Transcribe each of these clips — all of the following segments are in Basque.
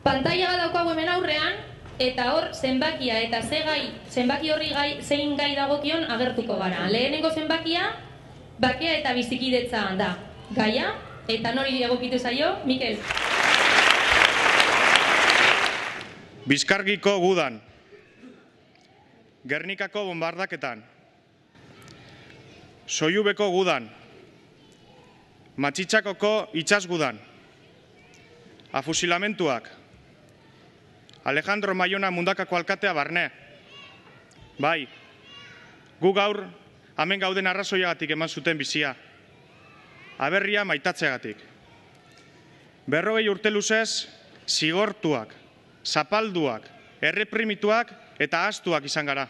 Pantaila bat daukagu hemen aurrean, eta hor zenbakia eta zenbaki horri zein gai dagokion agertuko gara. Lehenengo zenbakia, bakea eta bizikidetza da gaia, eta nori egokitu zaio, Mikel. Bizkargiko gudan, Gernikako bombardaketan, Soiubeko gudan, Matxitxakoko itsasgudan, afusilamentuak, Alejandro Maiona Mundakako alkatea barne. Bai, gu gaur hemen gauden arrazoiagatik eman zuten bizia. Aberria maitatzeagatik. 40 urte luzez, zigortuak, zapalduak, erreprimituak eta ahaztuak izan gara.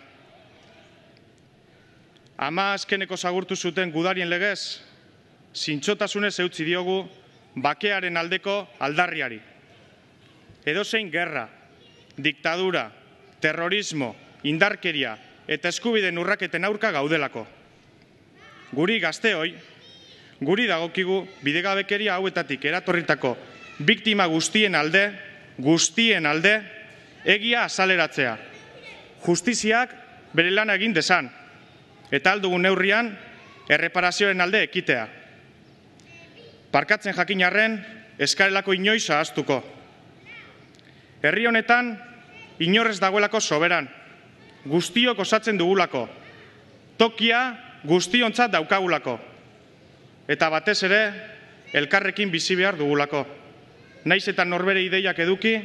Ama azkeneko zagurtu zuten gudarien legez, zintzotasunez eutzi diogu bakearen aldeko aldarriari. Edozein gerra, diktadura, terrorismo, indarkeria eta eskubideen urraketen aurka gaudelako. Guri gazteoi, guri dagokigu bidegabekeria hauetatik eratorritako biktima guztien alde, egia azaleratzea. Justiziak bere lana egin dezan, eta aldugun neurrian erreparazioen alde ekitea. Parkatzen jakin arren, eskarelako inoiz ahaztuko. Herri honetan, inorrez dagoelako soberan, guztiok osatzen dugulako, tokia guztiontzat daukagulako, eta batez ere, elkarrekin bizi behar dugulako. Naiz eta norbere ideiak eduki,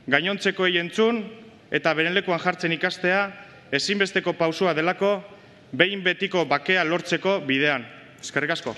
gainontzekoei entzun eta beren lekuan jartzen ikastea ezinbesteko pausua delako behin betiko bakea lortzeko bidean. Eskerrik asko.